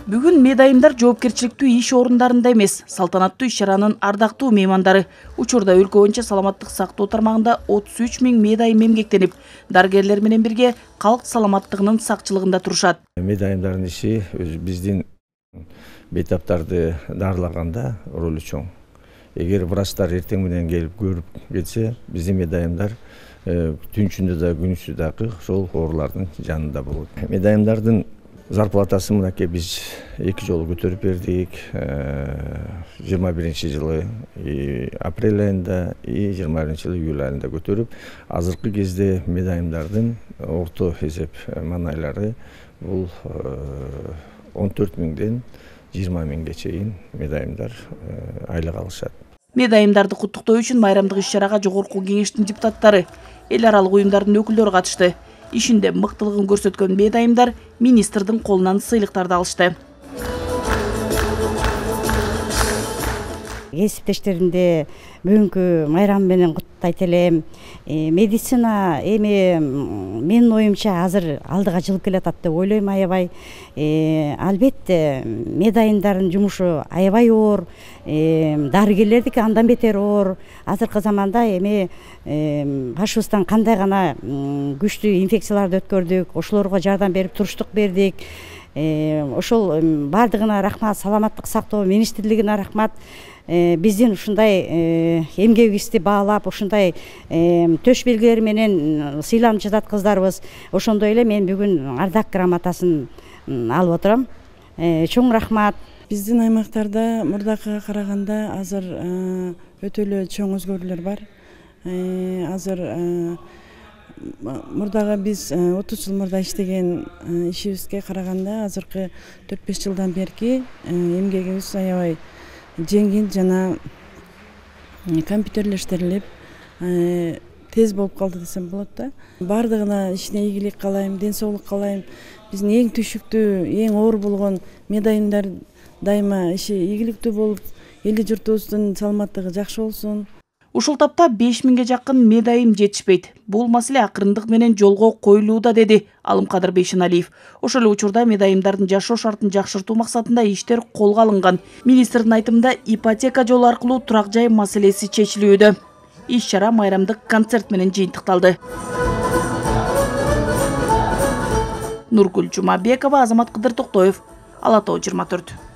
Бүгүн медайымдар жоопкерчиликтүү иш орундарында эмес, салтанаттуу иш-чаранын ардактуу меймандары. Учурда өлкө боюнча саламаттык сактоо тармагында 33 000 медайым эмгектенип, дарыгерлер менен бирге калк саламаттыгынын сакчылыгында турушат. Медайымдардын иши биздин бейтаптарды дарылаганда ролу чоң. Эгер врачтар эртең менен келип көрүп кетсе, биздин медайымдар түнчүндө да күнүсү дагы ошол оорулардын жанында болот. Медайымдардын зарплатасы мынакей биз 2 жолу көтөрүп бердик. 21-жылы апрель айында, 21-жылы июль айында көтөрүп, азыркы кезде медайымдардын орто эсеп маанайлары бул 14 000ден 20 000ге чейин медайымдар айлык алышат. Медайымдарды куттуктоо үчүн майрамдык иш-чарага жогорку кеңештин депутаттары, эл аралык уюмдардын өкүлдөрү катышты. Ишинде мыктылыгын көрсөткөн медайымдар министрдин колунан сыйлыктарды алышты. Кесиптештеримди бүгүнкү майрам менен куттуктайт элем. Медицина эми менин оюмча азыр алдыга жылып келатат деп ойлойм аябай. Албетте медайымдардын жумушу аябай оор, дарыгерлердики андан бетер оор. Азыркы заманда эми башыбыздан кандай гана күчтүү инфекцияларды өткөрдүк, ошолорго жардам берип туруштук бердик. Ошол бардыгына рахмат, саламаттык сактоо министрлигине рахмат. Биздин ушундай эмгегибизди баалап, ушундай төш белгилери менен сыйланып жатат кыздарыбыз. Ошондой эле мен бүгүн ардак грамотасын алып отурам. Чоң рахмат. Биздин аймактарда мурдакыга караганда азыр өтө эле чоң өзгөрүүлөр бар. Азыр мурдагы биз 30 жыл мурда иштеген ишибизге караганда азыркы 4-5 жылдан берки эмгегибиз аябай жеңил жана компьютерлештирилип тез болуп калды десем болот да. Бардыгына ишине ийгилик каалайм, ден соолук каалайм. Биздин эң түшүктүү, эң оор болгон медайымдар дайыма иши ийгиликтүү болуп, эли журтубуздун саламаттыгы жакшы болсун. Ушул тапта 5000ге жакын медайым жетишпейт. Бул маселе акырындык менен жолго коюлууда, деди Алымкадыр Бейшеналиев. Ошол эле учурда медайымдардын жашоо шартын жакшыртуу максатында иштер колго алынган. Министрдин айтымында ипотека жолу аркылуу турак жай маселеси чечилүүдө. Иш-чара майрамдык концерт менен жыйынтыкталды. Нургүл Жумабекова, Азамат Кыдыр Токтоев, Ала Тоо 24.